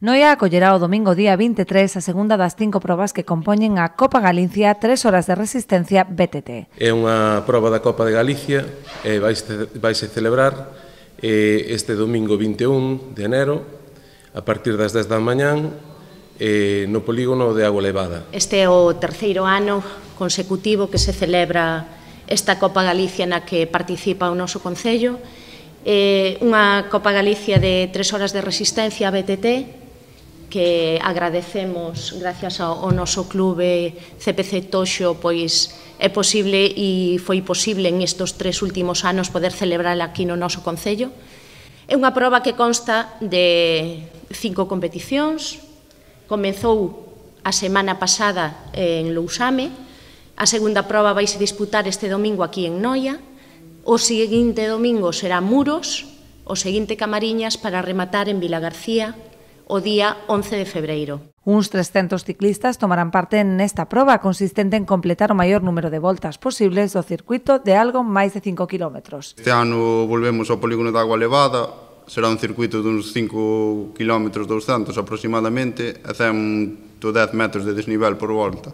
Noia acollerá o domingo día 23 a segunda das 5 probas que compoñen a Copa Galicia 3 horas de resistencia BTT. É unha proba da Copa de Galicia e vaise celebrar este domingo 21 de enero a partir das 10 da mañán no polígono de Agua Levada. Este é o terceiro ano consecutivo que se celebra esta Copa Galicia na que participa o noso Concello. Unha Copa Galicia de 3 horas de resistencia BTT que agradecemos gracias ao noso clube CPC Toxo, pois é posible e foi posible en estes 3 últimos anos poder celebrala aquí no noso Concello. É unha proba que consta de 5 competicións. Comezou a semana pasada en Lousame, a segunda proba vaise disputar este domingo aquí en Noia, o seguinte domingo será Muros, o seguinte Camariñas para rematar en Vilagarcía o día 11 de febreiro. Uns 300 ciclistas tomarán parte nesta proba consistente en completar o maior número de voltas posibles do circuito de algo máis de 5 kilómetros. Este ano volvemos ao polígono de Agua Levada, será un circuito duns 5 km 200 aproximadamente, e 110 metros de desnivel por volta.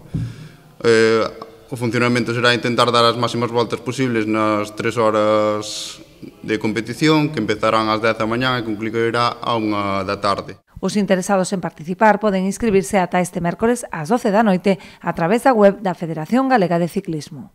O funcionamento será intentar dar as máximas voltas posibles nas 3 horas de competición, que empezarán ás 10 da mañá e concluirá a 1 da tarde. Os interesados en participar poden inscribirse ata este mércores ás 12 da noite a través da web da Federación Galega de Ciclismo.